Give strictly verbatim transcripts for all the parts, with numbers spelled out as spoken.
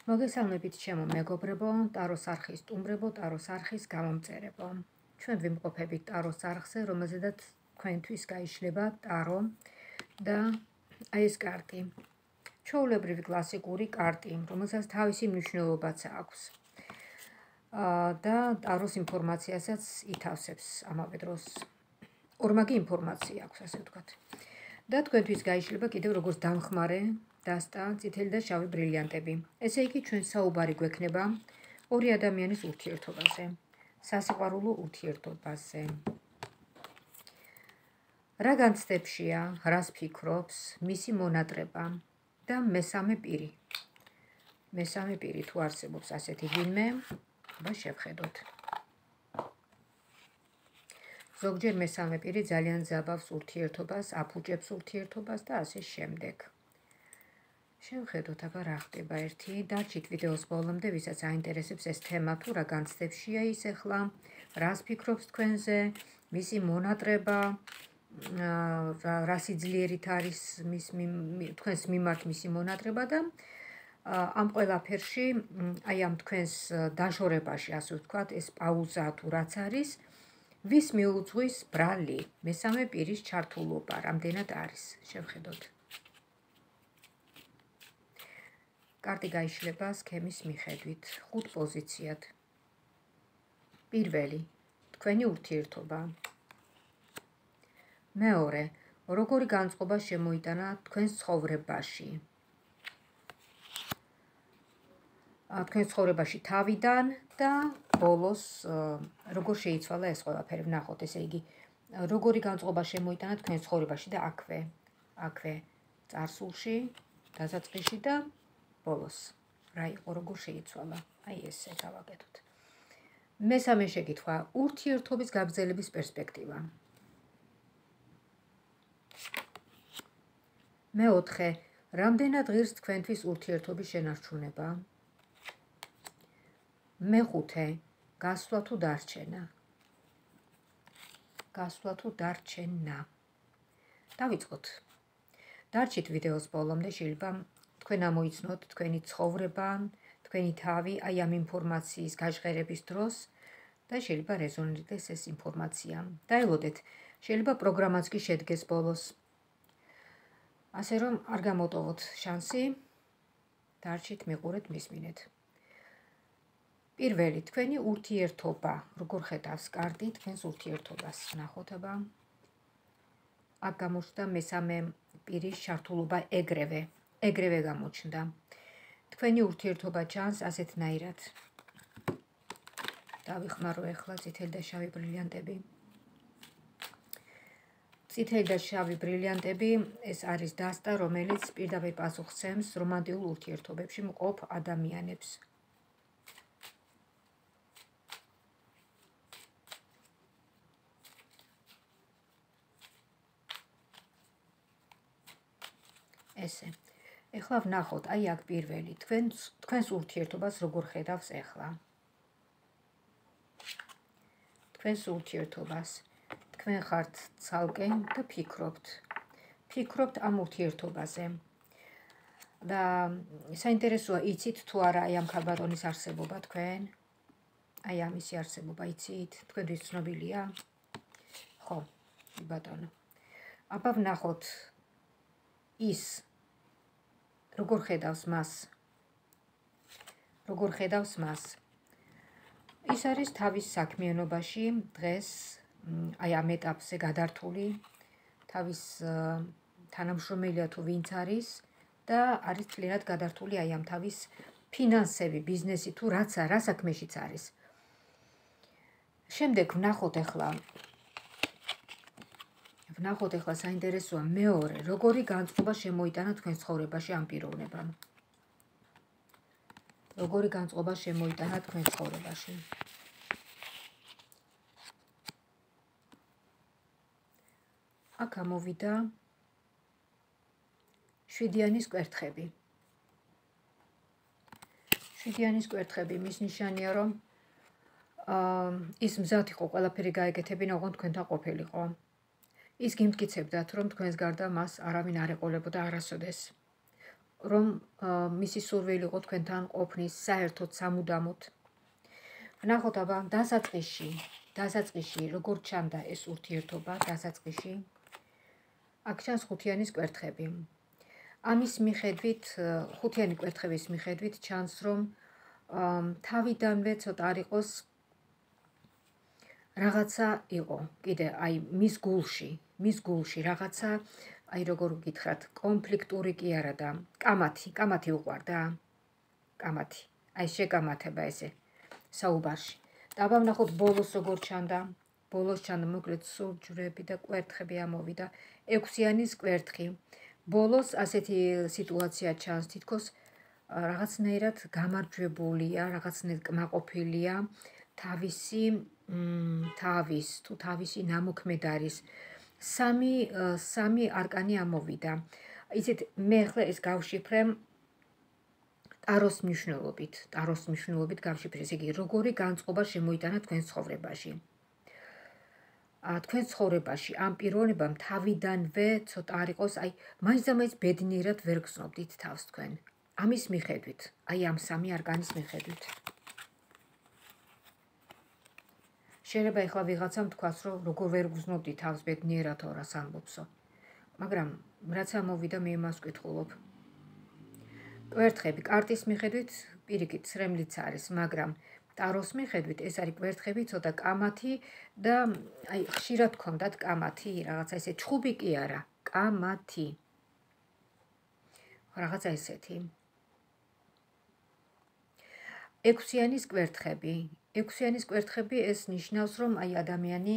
მოგესალმებით ჩემო მეგობრებო, ტაროს არხის სტუმრებო, ტაროს არხის გამომწერებო. ჩვენ ვიმყოფებით ტაროს არხზე, რომელზედაც თქვენთვის გაიშლება ტარო და აი ეს კარტი. ჩვეულებრივი კლასიკური კარტი, რომელსაც თავისი მნიშვნელობაც აქვს. და ტაროს ინფორმაციასაც ითავსებს ამავე დროს. ორმაგი ინფორმაცია აქვს, ასე ვთქვათ. და თქვენთვის გაიშლება კიდევ როგორც დამხმარე დასტა წითელი და შავი ბრილიანტები. ესე იგი ჩვენ საუბარი გვექნება ორი ადამიანის ურთიერთობაზე, სასიყვარულო ურთიერთობაზე. რა განცდებშია, რას ფიქრობს, მისი მონატრება და მესამე პირი. მესამე პირი თუ არსებობს ასეთი ვინმე, აბა შევხედოთ. ზოგჯერ მესამე პირი ძალიან ძაბავს ურთიერთობას, აფუჭებს ურთიერთობას და ასე შემდეგ. შევხედოთ, აბა რა ხდება ერთი, დარჩით ვიდეოს ბოლომდე, ვისაც აინტერესებს ეს თემა თუ რა განცდებშია ის ახლა, რას ფიქრობს თქვენზე, მისი მონატრება, რა სიძლიერით არის თქვენს მიმართ მისი მონატრება და ამ ყველაფერში, აი ამ თქვენს დაშორებაში, ასე ვთქვათ, ეს პაუზა თუ რაც არის, ვის მიუძღვის ბრალი, მესამე პირის ჩართულობა, რამდენად არის, შევხედოთ. კარტი გაიშლება სქემის მიხედვით, ხუთ პოზიციად. პირველი, თქვენი ურთიერთობა. მეორე, როგორი განწყობა შემოიტანა თქვენს ცხოვრებაში. თქვენს ცხოვრებაში თავიდან და ბოლოს როგორ შეიცვალა ეს ყველაფერი, ვნახოთ, ესე იგი, როგორი განწყობა შემოიტანა თქვენს ცხოვრებაში და აქვე, აქვე, წარსულში, დასაწყისში და ბოლოს. რა იყო, როგორ შეიცვალა? აი ესე გავაკეთოთ. მესამე შეკითხვა, ურთიერთობის გაგრძელების პერსპექტივა. მეოთხე, რამდენად ღირს თქვენთვის ურთიერთობის შენარჩუნება? მეხუთე, გასვლა თუ დარჩენა. გასვლა თუ დარჩენა. დავიწყოთ. დარჩით ვიდეოს ბოლომდე, შეიძლება თქვენ ამოიცნოთ თქვენი ცხოვრება, თქვენი თავი, აი ამ ინფორმაციის გაჟღერების დროს და შეიძლება რეზონირდეს ეს ინფორმაცია. დაელოდეთ, შეიძლება პროგრამაც კი შედგეს ბოლოს. ასე რომ არ გამოტოვოთ შანსი, დარჩით, მიყურეთ, მისმინეთ. პირველი, თქვენი ურთიერთობა, როგორ ხედავს კარტი თქვენს ურთიერთობას, ნახოთ აბა. აქ გამოჩნდა მესამე პირის ჩართულობა ეგრევე. ეგრევე გამოჩნდა. თქვენი ურთიერთობა ჩანს ასეთნაირად. დავიხმარო ახლა წითელი და შავი ბრილიანტები. წითელი და შავი ბრილიანტები, ეს არის დასტა, რომელიც პირდაპირ პასუხსცემს რომანტიულ ურთიერთობებში მყოფ ადამიანებს. ესე. ეხლა ვნახოთ, აი აქ პირველი, თქვენს ურთიერთობას როგორ ხედავს ეხლა. თქვენს ურთიერთობას. თქვენ ხართ ცალკე და ფიქრობთ. ფიქრობთ ამ ურთიერთობაზე. და საინტერესოა, იცით თუ არა აი ამ ქალბატონის არსებობა თქვენ? აი ამისი არსებობა იცით? თქვენთვის ცნობილია? ხო, ბატონო. აბა ვნახოთ ის როგორ ხედავს მას? როგორ ხედავს მას? ის არის თავის საქმიანობაში დღეს, აი ამ ეტაპზე გადართული, თავის თანამშრომელია თუ ვინც არის და არის წლიერად გადართული აი ამ თავის ფინანსები, ბიზნესი თუ რაც რა საქმეშიც არის. შემდეგ ვნახოთ ახლა ვნახოთ ახლა საინტერესოა მეორე, როგორი განწყობა შემოიტანა თქვენს ცხოვრებაში ამ პიროვნებამ. როგორი განწყობა შემოიტანა თქვენს ცხოვრებაში. აქ ამოვიდა შვიდიანის კვერთხები. შვიდიანის კვერთხები მის ნიშანია, რომ ის მზად იყო ყველაფერი გაეკეთებინა, ოღონდ თქვენთან ყოფილიყო. ის გიმტკიცებდათ, რომ თქვენს გარდა მას არავინ არ ეყოლებოდა არასოდეს. რომ მისი სურვილი იყო თქვენთან ყოფნის საერთოდ სამუდამოდ. ვნახოთ აბა დასაწყისში, დასაწყისში როგორ ჩანდა ეს ურთიერთობა დასაწყისში. აქ ჩანს ხუთიანის კვერთხები. ამის მიხედვით, ხუთიანი კვერთხების მიხედვით ჩანს, რომ თავიდანვე ცოტა არ იყოს რაღაცა იყო, კიდე აი მის გულში, მის გულში რაღაცა, აი როგორ გითხრათ, კონფლიქტური კი არა და კამათი, კამათი უყვარდა. კამათი. აი შეკამათება ესე საუბარში. და აბა ვნახოთ ბოლოს როგორ ჩანდა. ბოლოს ჩანდა მოკლედ სურჯვრები და კვერთხები ამოვიდა. ექვსიანის კვერთხი. ბოლოს ასეთი სიტუაცია ჩანს, თითქოს რაღაცნაირად გამარჯვებულია, რაღაცნაირად კმაყოფილია თავისი თავის თუ თავისი ნამოქმედ არის. სამი სამი არკანი ამოვიდა. იცით, მე ახლა ეს გავშიფრე ტაროს მნიშვნელობით, ტაროს მნიშვნელობით გავშიფრე, ესე იგი, როგორი განწყობა შემოიტანა თქვენ ცხოვრებაში. თქვენ ცხოვრებაში ამ პიროვნებამ თავიდანვე ცოტა არ იყოს, აი, მაინც და მაინც ბედნიერად ვერ გრძნობდით თავს თქვენ. ამის მიხედვით, აი ამ სამი არკანის მიხედვით. შეიძლება ეხლა ვიღაცამ თქვას, რომ როგორ ვერ გრძნობდი თავს ბედნიერად რას ამბობსო. მაგრამ რაც ამოვიდა, მე იმას ვკითხულობ. კვერთხები კარტის მიხედვით პირიქით ცრემლიც არის, მაგრამ ტაროს მიხედვით ეს არის კვერთხები ცოტა კამათი და აი ხშირად გქონდათ კამათი, რაღაცა ესე ჩხუბი კი არა, კამათი. რაღაცა ესეთი. ექვსიანის კვერთხები. ექვსიანის კვერთხები ეს ნიშნავს, რომ აი ადამიანი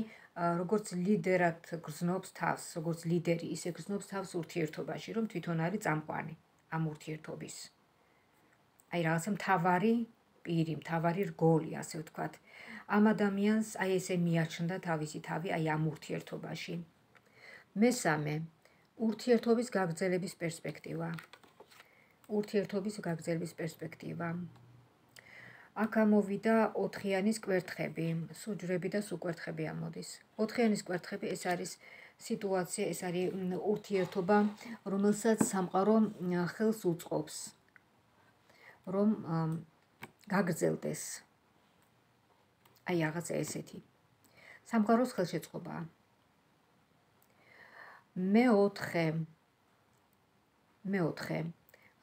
როგორც ლიდერად გრძნობს თავს, როგორც ლიდერი, ისე გრძნობს თავს ურთიერთობაში, რომ თვითონ არის წამყვანი ამ ურთიერთობის. აი რაღაცა მთავარი პირი, მთავარი რგოლი, ასე ვთქვათ. ამ ადამიანს აი ესე მიაჩნდა თავისი თავი აი ამ ურთიერთობაში. მესამე, ურთიერთობის გაგრძელების პერსპექტივა. ურთიერთობის გაგრძელების პერსპექტივა. აქ ამოვიდა ოთხიანის კვერთხები, სუჯვრები და სუკვერთხები ამოდის. ოთხიანის კვერთხები ეს არის სიტუაცია, ეს არის ურთიერთობა, რომელსაც სამყარო ხელს უწყობს, რომ გაგრძელდეს. აი რაღაცა ესეთი. სამყაროს ხელშეწყობაა. მეოთხე. მეოთხე.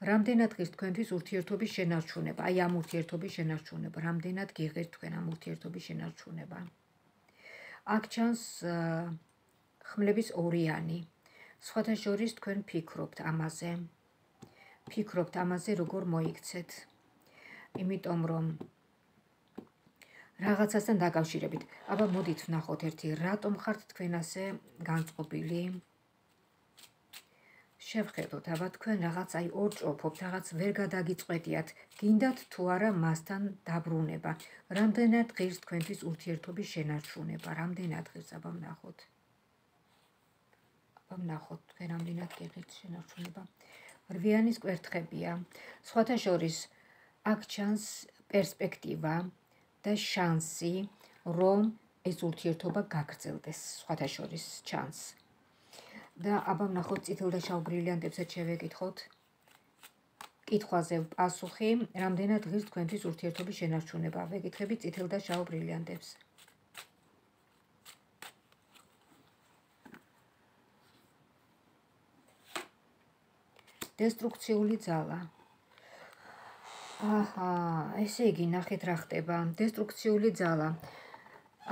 რამდენად ღირს თქვენთვის ურთიერთობის შენარჩუნება, აი ამ ურთიერთობის შენარჩუნება, რამდენად გიღირთ თქვენ ამ ურთიერთობის შენარჩუნება. აქ ჩანს ხმლების ორიანი. სხვათა შორის თქვენ ფიქრობთ ამაზე. ფიქრობთ ამაზე, როგორ მოიქცეთ. იმიტომ რომ რაღაცასთან დაკავშირებით. აბა მოდით ვნახოთ ერთი, რატომ ხართ თქვენ ასე განწყობილი? შევხედოთ, აბა თქვენ რაღაც აი ორჭოფობთ, რაღაც ვერ გადაგიწყვეტიათ, გინდათ თუ არა მასთან დაბრუნება. რამდენად ღირს თქვენთვის ურთიერთობის შენარჩუნება, რამდენად ღირს, აბა ვნახოთ. აბა ვნახოთ, თქვენ რამდენად გიღირთ შენარჩუნება. რვიანის კვერთხებია. სხვათა შორის აქ ჩანს პერსპექტივა და შანსი, რომ ეს ურთიერთობა გაგრძელდეს, სხვათა შორის ჩანს. და აბა ვნახოთ წითელ და შავ ბრილიანტებსაც შევეკითხოთ. კითხვაზე პასუხი, რამდენად ღირს თქვენთვის ურთიერთობის შენარჩუნება. ვეკითხებით წითელ და შავ ბრილიანტებს. დესტრუქციული ძალა. აჰა, ესე იგი, ნახეთ რა ხდება. დესტრუქციული ძალა.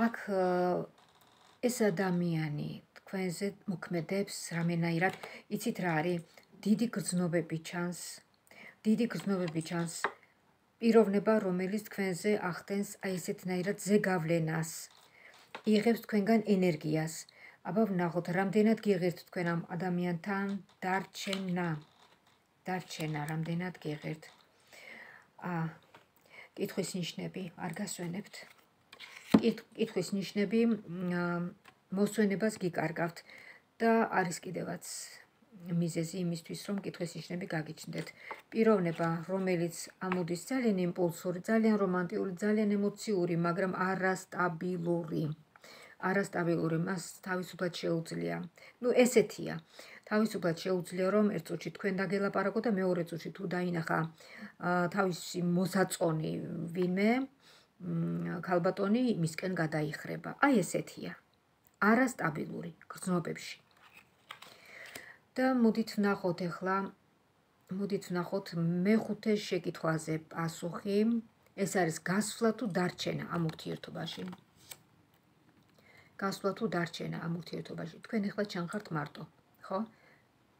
აქ ეს ადამიანი თქვენზე მოქმედებს რამენაირად, იცით რა არის? დიდი გრძნობები ჩანს. დიდი გრძნობები ჩანს. პიროვნება, რომელიც თქვენზე ახდენს აი ესეთნაირად ზეგავლენას. იღებს თქვენგან ენერგიას. აბა ვნახოთ, რამდენად გიღირთ თქვენ ამ ადამიანთან დარჩენა. დარჩენა, რამდენად გიღირთ. აა, კითხვის ნიშნები არ გასვენებთ. კითხვის ნიშნები მოსვენებას გიკარგავთ და არის კიდევაც მიზეზი იმისთვის, რომ კითხვის ნიშნები გაგიჩნდეთ. პიროვნება, რომელიც ამოდის ძალიან იმპულსური, ძალიან რომანტიული, ძალიან ემოციური, მაგრამ არასტაბილური. არასტაბილური, მას თავისუფლად შეუძლია. ნუ ესეთია. თავისუფლად შეუძლია რომ ერთ წუთში თქვენ დაგელაპარაკო და მეორე წუთში თუ დაინახა თავისი მოსაწონი ვინმე ქალბატონი მისკენ გადაიხრება. აი ესეთია. არასტაბილური გრძნობებში. და მოდით ვნახოთ ახლა, მოდით ვნახოთ მეხუთე შეკითხვაზე პასუხი. ეს არის გასვლა თუ დარჩენა ამ ურთიერთობაში. გასვლა თუ დარჩენა ამ ურთიერთობაში. თქვენ ახლა ჩანხართ მარტო, ხო?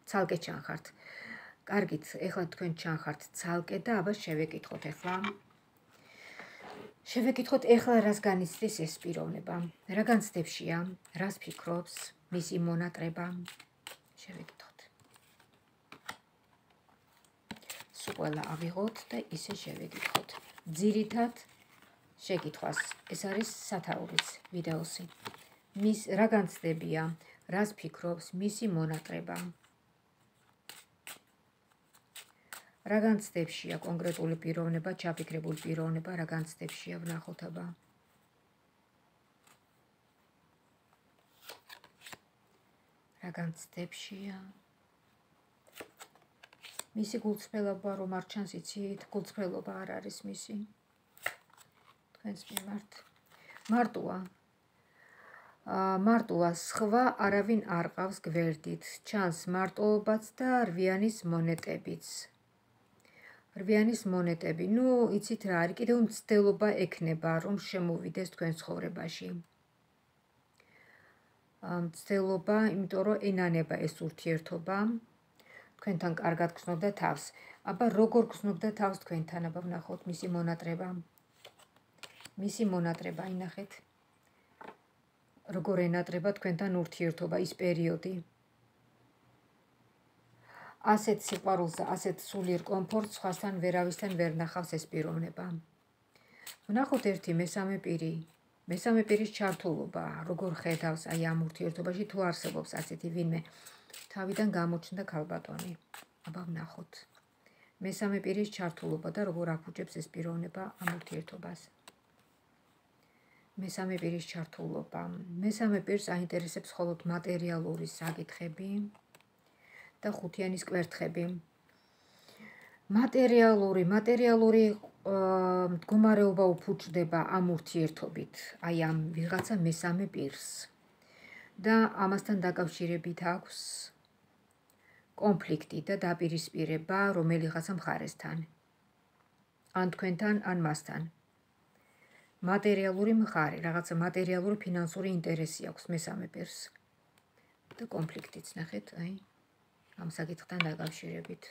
ცალკე ჩანხართ. კარგით, ახლა თქვენ ჩანხართ ცალკე და აბა შევეკითხოთ ახლა. შევეკითხოთ ახლა რას განიცდის ეს პიროვნება. რა განცდებშია, რას ფიქრობს, მისი მონატრება. შევეკითხოთ. სულ ყველა ავიღოთ და ისე შევეკითხოთ. ძირითად შეკითხვას. ეს არის სათაურიც ვიდეოსი. მის რა განცდებია, რას ფიქრობს, მისი მონატრება. რა განცდებშია კონკრეტული პიროვნება, ჩაფიქრებული პიროვნება, რა განცდებშია ვნახოთ აბა. რა განცდებშია. მისი გულწრფელობა რომ არ ჩანს, იცით, გულწრფელობა არ არის მისი. თქვენს მიმართ. მარტოა. მარტოა, სხვა არავინ არ ყავს გვერდით. ჩანს მარტოობაც და რვიანის მონეტებიც. რვიანის მონეტები. ნუ, იცით რა არის, კიდევ მცდელობა ექნება, რომ შემოვიდეს თქვენ ცხოვრებაში. მცდელობა, იმიტომ რომ ენანება ეს ურთიერთობა. თქვენთან კარგად გრძნობდა თავს. აბა როგორ გრძნობდა თავს თქვენთან, აბა ვნახოთ მისი მონატრება. მისი მონატრება ინახეთ. როგორ ენატრება თქვენთან ურთიერთობა ის პერიოდი. ასეთ სიყვარულს, ასეთ სულიერ კომფორტს სხვასთან ვერავისთან ვერ ნახავს ეს პიროვნება. ვნახოთ ერთი მესამე პირი. მესამე პირის ჩართულობა, როგორ ხედავს აი ამ ურთიერთობაში, თუ არსებობს ასეთი ვინმე. თავიდან გამოჩნდა ქალბატონი. აბა ვნახოთ. მესამე პირის ჩართულობა და როგორ აფუჭებს ეს პიროვნება ამ ურთიერთობას. მესამე პირის ჩართულობა. მესამე პირს აინტერესებს მხოლოდ მატერიალური საკითხები და ხუთიანის კვერთხები. მატერიალური, მატერიალური მდგომარეობა უფუჭდება ამ ურთიერთობით, აი ამ ვიღაცა მესამე პირს. და ამასთან დაკავშირებით აქვს კონფლიქტი და დაპირისპირება რომელიღაცა მხარესთან. ან თქვენთან, ან მასთან. მატერიალური მხარე, რაღაცა მატერიალური ფინანსური ინტერესი აქვს მესამე პირს. და კონფლიქტიც ნახეთ, აი, ამ საკითხთან დაკავშირებით.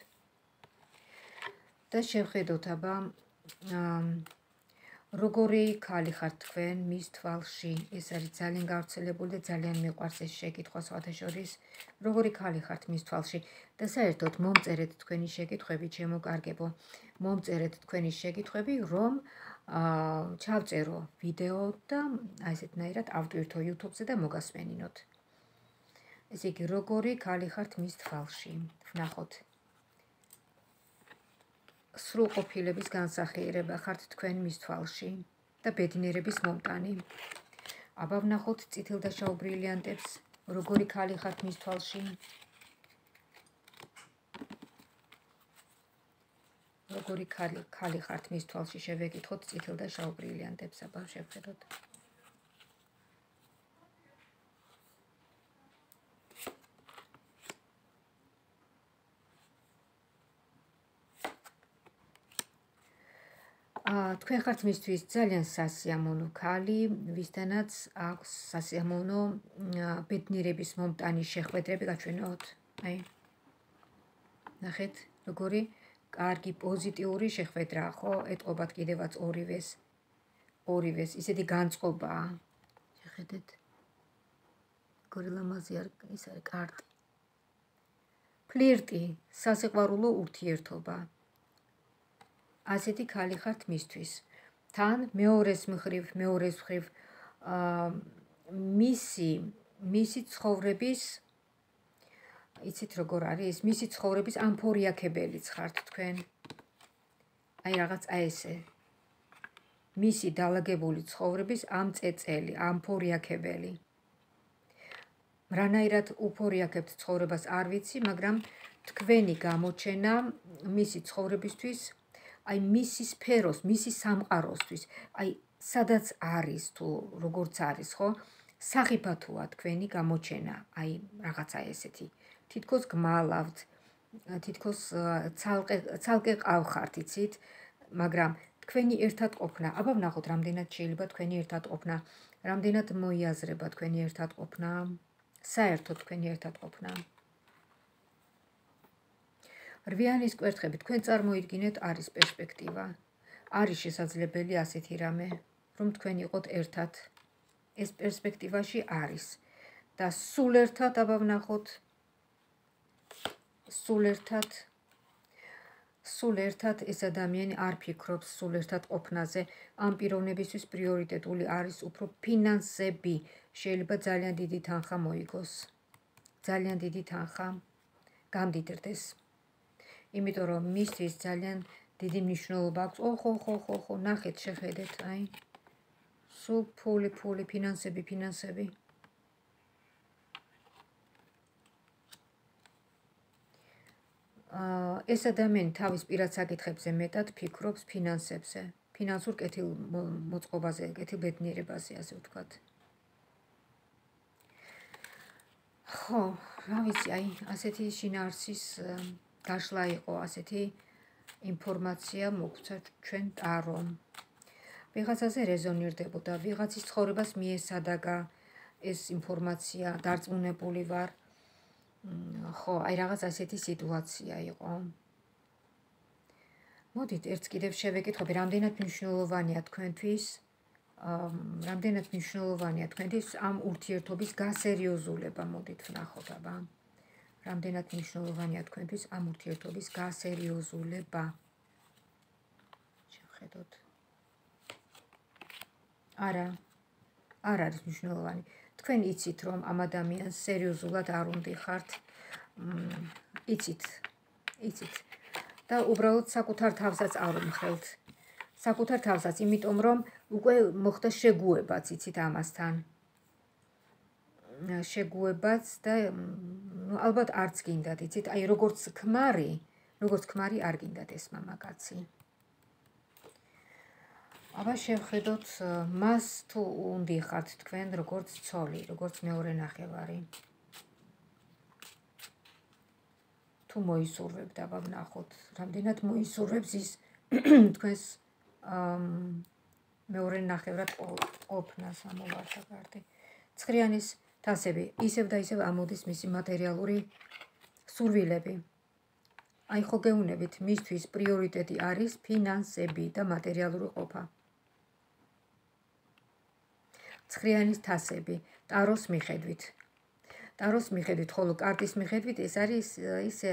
და შევხედოთ აბა როგორი ქალი ხართ თქვენ მის თვალში. ეს არის ძალიან გავრცელებული და ძალიან მიყვარს ეს შეკითხვა სხვათა შორის. როგორი ქალი ხართ მის თვალში და საერთოდ მომწერეთ თქვენი შეკითხვები, ჩემო კარგებო. მომწერეთ თქვენი შეკითხვები, რომ ჩავწერო ვიდეო და აი ესეთნაირად ავტვირთო YouTube-ზე და მოგასმენინოთ. ესე იგი, როგორი ქალი ხართ მის თვალში. ვნახოთ. სრულყოფილების განსახიერება ხართ თქვენ მის თვალში და ბედნიერების მომტანი. აბა ვნახოთ წითელ და შავ ბრილიანტებს, როგორი ქალი ხართ მის თვალში. როგორი ქალი ქალი ხართ მის თვალში, შევეკითხოთ წითელ და შავ ბრილიანტებს, აბა შევხედოთ. თქვენ ხართ მისთვის ძალიან სასიამოვნო ქალი, ვისთანაც აქვს სასიამოვნო ბედნიერების მომტანი შეხვედრები გაჩვენოთ. აი. ნახეთ, როგორი კარგი პოზიტიური შეხვედრაა, ხო? ეტყობათ კიდევაც ორივეს. ორივეს, ისეთი განწყობაა. შეხედეთ. როგორი ლამაზი ის არის კარტი. ფლირტი, სასიყვარულო ურთიერთობა. ასეთი ქალი ხართ მისთვის. თან მეორეს მხრივ, მეორეს მხრივ მისი მისი ცხოვრების იცით როგორ არის? მისი ცხოვრების ამფორიაქებელიც ხართ თქვენ. აი რაღაც აი ესე. მისი დალაგებული ცხოვრების ამ წეწელი, ამფორიაქებელი. რანაირად უფორიაქებთ ცხოვრებას არ ვიცი, მაგრამ თქვენი გამოჩენა მისი ცხოვრებისთვის, აი მისი სფეროს, მისი სამყაროსთვის, აი სადაც არის თუ როგორც არის, ხო? სახიფათოა თქვენი გამოჩენა, აი რაღაცა ესეთი. თითქოს გმალავთ, თითქოს ცალკე ცალკე ყავხართ, იცით, მაგრამ თქვენი ერთად ყოფნა, აბა ვნახოთ, რამდენად შეიძლება თქვენი ერთად ყოფნა, რამდენად მოიაზრება თქვენი ერთად ყოფნა, საერთოდ თქვენი ერთად ყოფნა. რვიანის კვერთხები, თქვენ წარმოიდგინეთ, არის პერსპექტივა. არის შესაძლებელი ასეთი რამე, რომ თქვენ იყოთ ერთად. ეს პერსპექტივაში არის და სულ ერთად, აბა ვნახოთ, სულ ერთად სულ ერთად ეს ადამიანი არ ფიქრობს სულ ერთად ყოფნაზე, ამ პიროვნებისთვის პრიორიტეტული არის უფრო ფინანსები. შეიძლება ძალიან დიდი თანხა მოიგოს. ძალიან დიდი თანხა გამდიდრდეს. იმიტომ რომ მისთვის ძალიან დიდი მნიშვნელობა აქვს. ოხო, ხო, ხო, ხო, ნახეთ, შეხედეთ, აი. სულ ფული, ფული, ფინანსები, ფინანსები. ეს ადამიანი თავის პირად საკითხებზე მეტად ფიქრობს ფინანსებზე, ფინანსურ კეთილმოწყობაზე, კეთილბედნიერებაზე, ასე ვთქვათ. ხო, რა ვიცი, აი, ასეთი შინაარსის გაშლა იყო, ასეთი ინფორმაცია მოგვცა ჩვენ ტარომ. ვიღაცაზე რეზონირდებოდა, ვიღაცის ცხოვრებას მიესადაგა ეს ინფორმაცია, დარწმუნებული ვარ. ხო, აი რაღაც ასეთი სიტუაცია იყო. მოდით, ერთს კიდევ შევეკითხები, რამდენად მნიშვნელოვანია თქვენთვის, რამდენად მნიშვნელოვანია თქვენთვის ამ ურთიერთობის გასერიოზულება, მოდით ვნახოთ, აბა. რამდენად მნიშვნელოვანია თქვენთვის ამ ურთიერთობის გასერიოზულება. შევხედოთ. არა, არ არის მნიშვნელოვანი. თქვენ იცით, რომ ამ ადამიანს სერიოზულად არ უნდიხართ, იცით, იცით. და უბრალოდ საკუთარ თავსაც არ უმხელთ. საკუთარ თავსაც, იმიტომ რომ უკვე მოხდა შეგუებაც, იცით ამასთან. შეგუებაც და ალბათ არც გინდათ, იცით, აი როგორც ქმარი, როგორც ქმარი არ გინდათ ეს მამაკაცი. აბა შევხედოთ, მას თუ უნდიხართ თქვენ როგორც ცოლი, როგორც მეორე ნახევარი. თუ მოისურვებთ, აბა ვნახოთ, რამდენად მოისურვებს ის თქვენს მეორე ნახევრად ყოფნას, ამოვარდა კარტი. ცხრიანის თასები, ისევ და ისევ ამოდის მისი მატერიალური სურვილები. აი ხო გეუნებით, მისთვის პრიორიტეტი არის ფინანსები და მატერიალური ყოფა. ცხრიანის თასები, ტაროს მიხედვით. ტაროს მიხედვით, ხოლო კარტის მიხედვით ეს არის ისე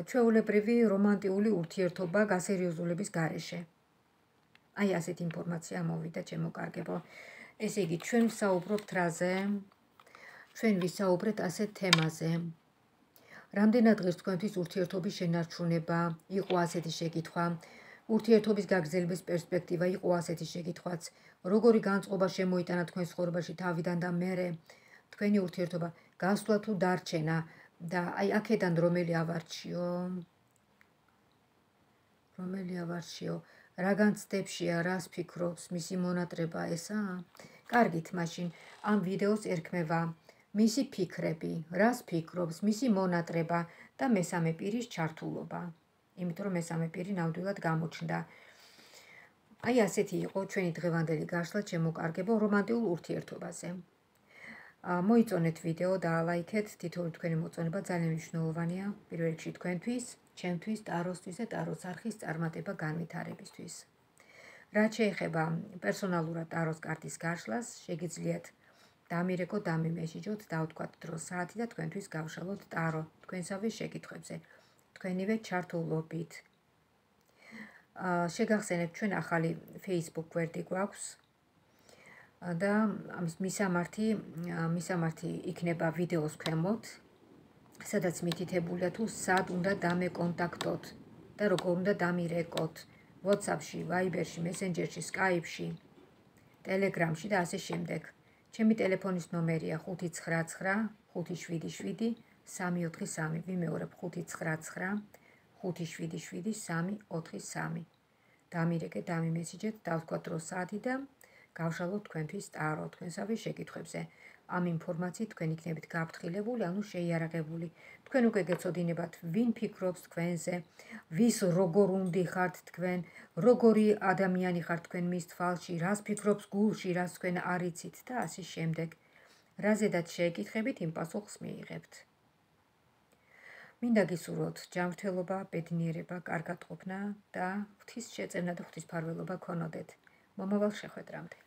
ჩვეულებრივი რომანტიული ურთიერთობა გასერიოზულების გარეშე. აი ასეთი ინფორმაცია მოვიდა ჩემო კარგებო. ესე იგი, ჩვენ ვსაუბრობთ რაზე? ჩვენ ვისაუბრეთ ასეთ თემაზე. რამდენად ღირს თქვენთვის ურთიერთობის შენარჩუნება, იყო ასეთი შეკითხვა. ურთიერთობის გაგრძელების პერსპექტივა იყო ასეთი შეკითხვაც. როგორი განწყობა შემოიტანა თქვენ ცხოვრებაში თავიდან და მერე თქვენი ურთიერთობა გასვლა თუ დარჩენა და აი აქედან რომელი ავარჩიო? რომელი ავარჩიო? რაგან ცდებშია, რას ფიქრობს, მისი მონატრება ესა? კარგით, მაშინ ამ ვიდეოს ერქმევა მისი ფიქრები, რას ფიქრობს, მისი მონატრება და მესამე პირის ჩართულობა. იმიტომ რომ მესამე პირი ნამდვილად გამოჩნდა. აი ასეთი იყო ჩვენი დღევანდელი გაშლა, ჩემო კარგებო, რომანტიულ ურთიერთობაზე. მოიწონეთ ვიდეო, დაალაიქეთ, თითოეული თქვენი მოწონება ძალიან მნიშვნელოვანია, პირველ რიგში თქვენთვის, ჩემთვის, ტაროსთვის და ტაროს არხის წარმატება განვითარებისთვის. რაც შეეხება პერსონალურად ტაროს კარტის გაშლას, შეგიძლიათ დამირეკოთ, დამიმესიჯოთ, დავთქვათ დრო საათი და თქვენთვის გავშალოთ ტარო თქვენსავე შეკითხვებზე, თქვენივე ჩართულობით. შეგახსენებთ, ჩვენ ახალი Facebook გვერდი გვაქვს და ამის მისამართი, მისამართი იქნება ვიდეოს ქვემოთ, სადაც მითითებულია თუ სად უნდა დამეკონტაქტოთ და როგორ უნდა დამირეკოთ WhatsApp-ში, Viber-ში, Messenger-ში, Skype-ში, Telegram-ში და ასე შემდეგ. ჩემი ტელეფონის ნომერია ხუთი ცხრა ცხრა ხუთი შვიდი შვიდი სამი ოთხი სამი. ვიმეორებ ხუთი ცხრა ცხრა ხუთი შვიდი შვიდი სამი ოთხი სამი. დამირეკე, დამიმესიჯეთ, დავთქვათ რო საათი და გავშალოთ თქვენთვის ტარო თქვენსავე შეკითხვებზე. ამ ინფორმაციით თქვენ იქნებით გაფრთხილებული, ანუ შეიარაღებული. თქვენ უკვე გეცოდინებათ, ვინ ფიქრობს თქვენზე, ვის როგორ უნდიხართ თქვენ, როგორი ადამიანი ხართ თქვენ მის თვალში, რას ფიქრობს გულში, რას თქვენ არ იცით და ასე შემდეგ. რაზედაც შეეკითხებით, იმ პასუხს მიიღებთ. მინდა გისურვოთ ჯანმრთელობა, ბედნიერება, კარგად ყოფნა და ღვთის შეწევნა და ღვთისმფარველობა გქონოდეთ. მომავალ შეხვედრამდე.